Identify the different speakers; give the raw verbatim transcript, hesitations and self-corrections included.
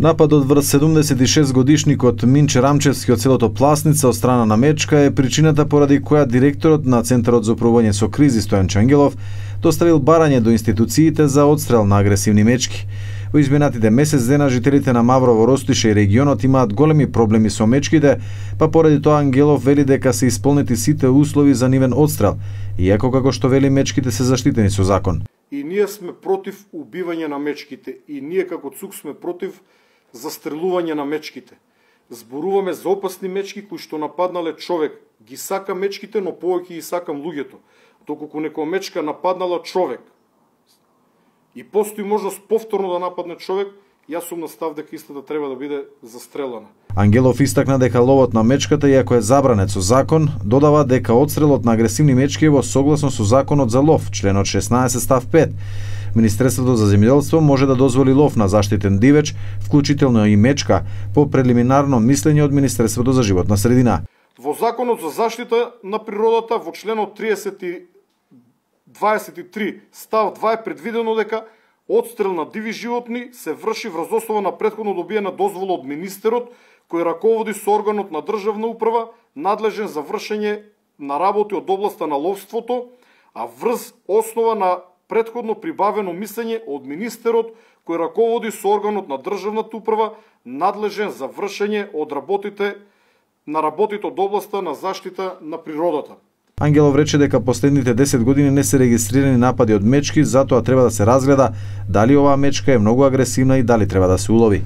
Speaker 1: Нападот врз седумдесет и шест годишникот Минче Рамчевски од селото Пласница од страна на мечка е причината поради која директорот на Центарот за управување со кризи Стојан Чангелов доставил барање до институциите за одстрел на агресивни мечки. Во изминатите месец дена жителите на Маврово, Ростише и регионот имаат големи проблеми со мечките, па поради тоа Ангелов вели дека се исполнети сите услови за нивен одстрел, иако како што вели мечките се заштитени со закон.
Speaker 2: И ние сме против убивање на мечките, и ние како ЦУК сме против застрелување на мечките. Зборуваме за опасни мечки кои што нападнале човек. Ги сакам мечките, но повеќе ги сакам луѓето. Доколку некоја мечка нападнала човек и постои можност повторно да нападне човек, јас сум на став дека истата треба да биде застрелана.
Speaker 1: Ангелов истакна дека ловот на мечката, иако е забранет со закон, додава дека одстрелот на агресивни мечки е во согласно со законот за лов, членот шеснаесет став пет. Министерството за земјоделство може да дозволи лов на заштитен дивеч, вклучително и мечка, по прелиминарно мислење од Министерството за животна средина.
Speaker 2: Во Законот за заштита на природата, во членот тридесет и дваесет и три став два е предвидено дека одстрел на диви животни се врши врз основа на претходно добиена дозвола од министерот, кој раководи со органот на државна управа надлежен за вршење на работи од областа на ловството, а врз основа на претходно прибавено мислење од министерот кој раководи со органот на државната управа надлежен за вршење од работите на работите од областа на заштита на природата.
Speaker 1: Ангелов рече дека последните десет години не се регистрирани напади од мечки, затоа треба да се разгледа дали оваа мечка е многу агресивна и дали треба да се улови.